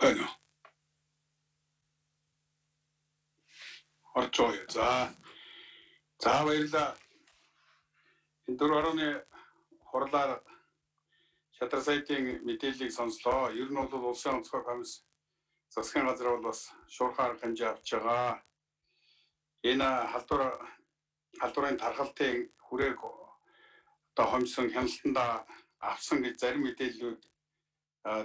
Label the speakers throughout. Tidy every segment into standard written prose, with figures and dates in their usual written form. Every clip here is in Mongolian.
Speaker 1: байна уу? Орж байгаа. За баярлалаа. Энэ 4 орны хурлаар шадар сайтын мэдээллийг сонслоо. Ер нь бол улсын онцгой комисс засгийн газар бол бас шуурхаар хэмжээ авч байгаа. Энэ халдварын тархалтын хүрээг одоо хомсон хяналтанда авсан гэж зарим мэдээллүүд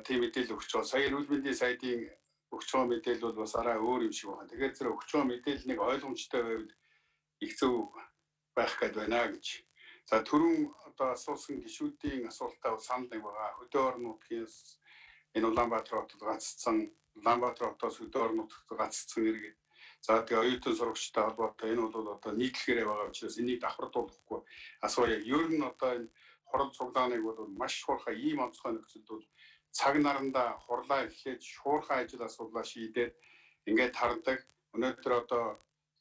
Speaker 1: тийм мэдээлэл өгч байгаа. Сая эрүүл мэндийн сайдын өгч байгаа мэдээлэл бол бас арай өөр юм шиг байна. Тэгэхээр зэрэг өгч байгаа мэдээллийг ойлгомжтой байвал их зөв байх гээд байна гэж. За түрүүн одоо асуусан гишүүдийн асуултаа санал нэг байгаа. Хөдөө орон нутгаас энэ Улаанбаатар хотод гаццсан, Улаанбаатар хотоос хөдөө орон нутгад гаццсан иргэд. За тэгээ оюутан сурагчтай холбоотой энэ бол одоо нийтлэхээр байгаа учраас энийг давхардуулахгүй асууя. Ер нь одоо энэ хурал цуглааныг бол маш хуурхай ийм онцгой нөхцөлд бол цаг наранда хурлаа эхлээд шуурхай ажил асуудлаа шийдээд ингээд хардаг. Өнөөдөр одоо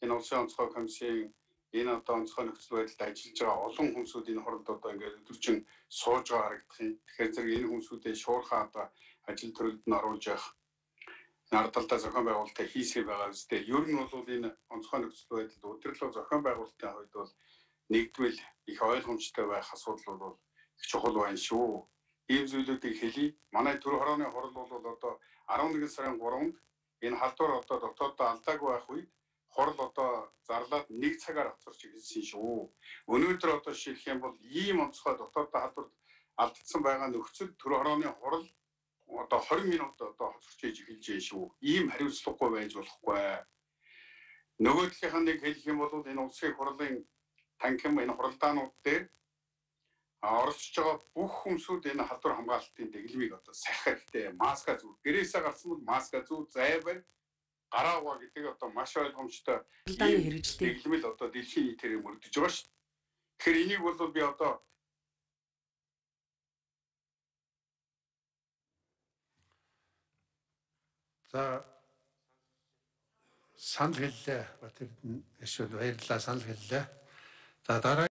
Speaker 1: энэ улсын онцгой комиссийн энэ одоо онцгой нөхцөл байдалд ажиллаж байгаа олон хүмүүсүүд энэ хурлд одоо ингээд өдөржин сууж байгаа харагдах юм. Тэгэхээр зэрэг энэ хүмүүсүүдээ шуурхай одоо ажил төрөлд нь оруулж явах ардалдаа зохион байгуулалтаа хийсгий байгаа үстэй. Ер нь бол энэ онцгой нөхцөл байдалд удирдлага зохион байгуулалтын хувьд бол нэгдвэл их ойлгомжтой байх асуудал бол их чухал байна шүү. Ийм зүйлүүдийг хэлье. Манай 4 хорооны хурал бол одоо 11 сарын 3-нд энэ халдвар одоо дотооддоо алдаагүй байх үед хурал одоо зарлаад 1 цагаар хоцорч ирсэн шүү. Өнөөдөр одоо шилжих юм бол ийм онцгой дотооддоо халдвар алдсан байгаа нөхцөл 4 хорооны хурал одоо 20 минут одоо хоцорч иж эхэлж байна шүү. Ийм хариуцлагагүй байж болохгүй. Нөгөө талынхаа нэг хэлэх юм бол энэ улсын хурлын танхим энэ хуралдаанууд дээр оролцож байгаа бүх хүмүүсүүд энэ халдвар хамгаалалтын дэглэмийг одоо сахих хэрэгтэй. Маска зүү. Гэрээсээ гарсан бол маска зүү, зайвар гараагаа гэдэг одоо маш ойлгомжтой дэглэмэл одоо дэлхийн нийтээр мөрдөж байгаа шүү. Тэгэхээр энийг бол би одоо
Speaker 2: за санал хэллээ. Батэрд нь эсвэл баярлалаа санал хэллээ. За дараа